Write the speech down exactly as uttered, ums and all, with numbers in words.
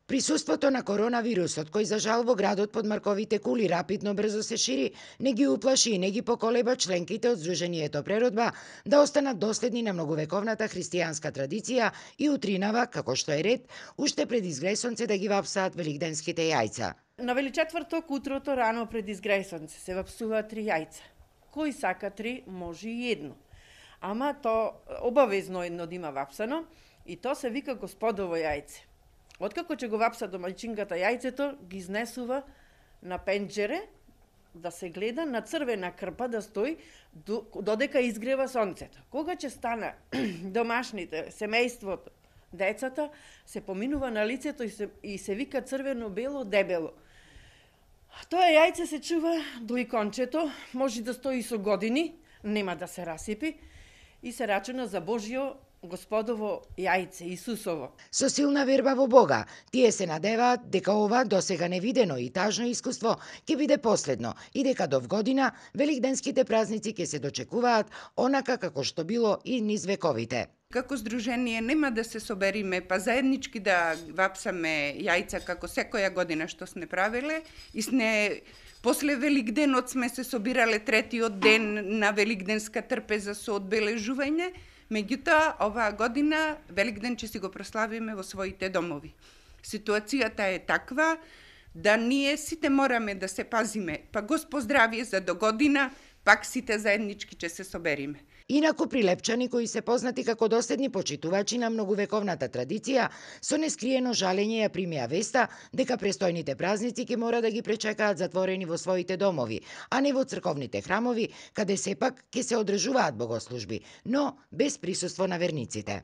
Присуството на коронавирусот, кој за жал во градот под Марковите кули рапидно брзо се шири, не ги уплаши и не ги поколеба членките од Сдруженијето Преродба да останат доследни на многовековната христијанска традиција и утринава, како што е ред, уште пред изгресонце да ги вапсаат великденските јајца. На Величетврток утрото рано пред изгресонце се вапсуваат три јајца. Кој сака три, може и едно. Ама то обавезно едно да има вапсано и то се вика Господово јајце. Откако ќе го вапса домаќинката јајцето, ги изнесува на пенџере да се гледа, на црвена крпа да стои додека изгрева сонцето. Кога ќе стана домашните, семејството, децата, се поминува на лицето и се, и се вика црвено-бело, дебело. Тоа јајце се чува до икончето, може да стои со години, нема да се расипи и се рачуна за Божјо Господово јајце, Исусово. Со силна верба во Бога, тие се надеваат дека ова досега невидено и тажно искуство ќе биде последно и дека до вгодина великденските празници ќе се дочекуваат онака како што било и низ вековите. Како здружение нема да се собериме, па заеднички да вапсаме јајца како секоја година што сме правеле и сне после Великденот сме се собирале третиот ден на великденска трпеза со одбележување. Меѓутоа, оваа година Великден ќе си го прославиме во своите домови. Ситуацијата е таква да ние сите мораме да се пазиме, па Господ здравие за до година, пак сите заеднички ќе се собериме. Инаку прилепчани кои се познати како доследни почитувачи на многувековната традиција, со нескриено жалење ја примија веста дека престојните празници ќе мора да ги пречекаат затворени во своите домови, а не во црковните храмови, каде сепак ќе се одржуваат богослужби, но без присуство на верниците.